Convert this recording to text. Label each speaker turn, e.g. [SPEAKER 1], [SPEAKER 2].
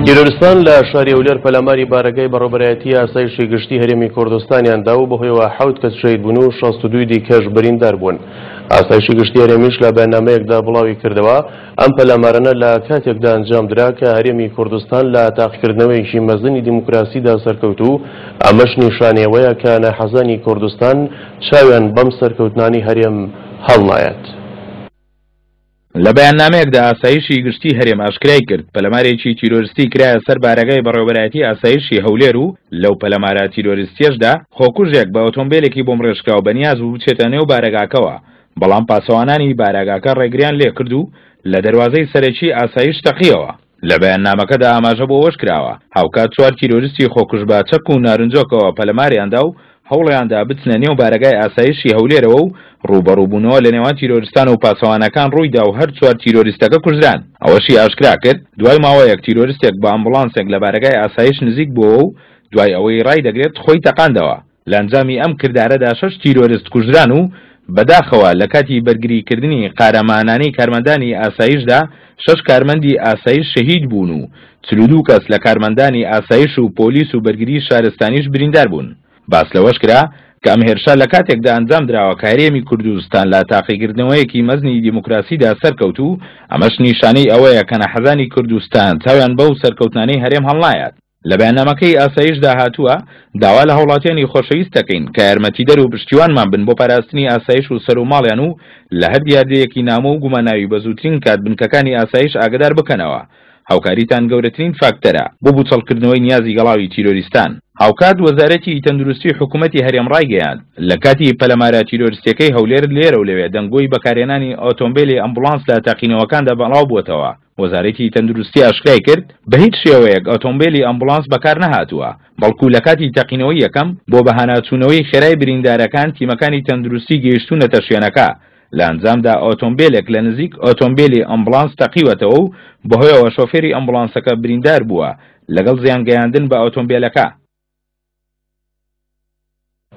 [SPEAKER 1] تیرۆرستان لە شاری هەولێر پەلاماری بارەگای بەڕێوەبەرایەتی ئاسایشی گشتی هەرێمی کوردستانیان دا و بەهۆیەوە حەوت کەس شەهید بوون و 62 دیکەش بریندار بوون. ئاسایشی گشتی هەرێمیش لە بەیاننامەیەکدا بڵاوی کردەوە، ئەم پەلامارانە لە کاتێکدا ئەنجامدرا کە هەرێمی کوردستان لە تاقیکردنەوەیەکی مەزنی دیموکراسیدا سەرکەوت و ئەمەش نیشانەی ئەوەیە کە ناحەزانی کوردستان چاویان بەم سەرکەوتنانەی هەرێم هەڵنایەت.
[SPEAKER 2] لە بەیاننامەیەکدا ئاسایشی گشتی هەرێم ئاشکرای کرد، پەلەمارێکی تیرۆرستی کرایە سەر بارەگای بەڕێوەبەرایەتی ئاسایشی هەولێر و لەو پەلەمارە تیرۆریستیەشدا خۆکوژێک بە ئۆتۆمبێلێکی بۆمڕێژکراو بەنیاز بوو بچێتە نێو بارەگاکەوە، بەڵام پاسەوانانی بارەگاکە ڕێگریان لێکرد و لە دەروازەی سەرەکی ئاسایش تەقیەوە. لە بەیاننامەکەدا ئاماژە بۆ ئەوەشکراوە، هاوکات چوار تیرۆریستی خۆکوژ بە چەک و نارنجۆکەوە پەلەماریاندا و هەوڵیاندا بچنە نێو بارەگای ئاسایشی هەولێرەوە و ڕووبەڕووبوونەوە لە نێوان تیرۆریستان و پاسەوانەکان ڕوویدا و هەر چوار تیرۆریستەکە کوژران. ئەوەشی ئاشکرا کرد، دوای ماوەیەک تیرۆریستێک بە ئەمبوڵانسێک لە بارەگای ئاسایش نزیک بووەوە و دوای ئەوەی ڕایدەگرێت خۆی تەقاندەوە. لە ئەنجامی ئەم کردارەدا شەش تیرۆرست کوژران و بەداخەوە لە کاتی بەرگریکردنی قارەمانانەی کارمەندانی ئاسایشدا شەش کارمەندی ئاسایش شەهید بوون و 42 کەس لە کارمەندانی ئاسایش و پۆلیس و بەرگری شارستانیش بریندار بوون. باس لەوەش کرا کە ئەم هێرشە لە کاتێکدا ئەنجام دراوە کە هەرێمی کوردستان لە تاقیکردنەوەیەکی مەزنی دیموکراسیدا سەرکەوت و ئەمەش نیشانەی ئەوەیە کە ناحەزانی کوردستان چاویان بەو سەرکەوتنانەی هەرێم هەڵنایات. لە بەیاننامەکەی ئاسایشدا هاتووە، داوا لە هاوڵاتیانی خۆشەویست دەکەین کە یارمەتیدەر و پشتیوانمان بن بۆ پاراستنی ئاسایش و سەر و ماڵیان و لە هەر دیاردەیەکی نامۆ و گوماناوی بە زووترین کات بنکەکانی ئاسایش ئاگەدار بکەنەوە. هاوکاریتان گەورەترین فاکتەرە بۆ بوچەڵکردنەوەی نیازی گەڵاوی تیرۆریستان. هاوکات وەزارەتی تەندروستی حکومەتی هەرێم ڕایگەیاند، لە کاتی پەلەمارە تیرۆریستیەکەی هەولێر لێرەو لەوێ دەنگۆی بەکارهێنانی ئۆتۆمبێلی ئەمبوڵانس لە تەقینەوەکاندا بەڵاوبووەتەوە. وەزارەتی تەندروستی ئاشکرای کرد، بەهیچ شێوەیەک ئۆتۆمبێلی ئەمبوڵانس بەکارنەهاتووە، بەڵکو لەکاتی تەقینەوەی یەکەم بۆ بەهاناچوونەوەی خێرای بریندارەکان تیمەکانی تەندروستی گەیشتوونەتە شوێنەکە، لە ئەنجامدا ئۆتۆمبێلێک لە نزیک ئۆتۆمبێلی ئەمبوڵانس تەقیوەتەوە و بەهۆیەوە شۆفێری ئەمبوڵانسەکە بریندار بووە لەگەڵ زیانگەیاندن بە ئۆتۆمبێلەکە.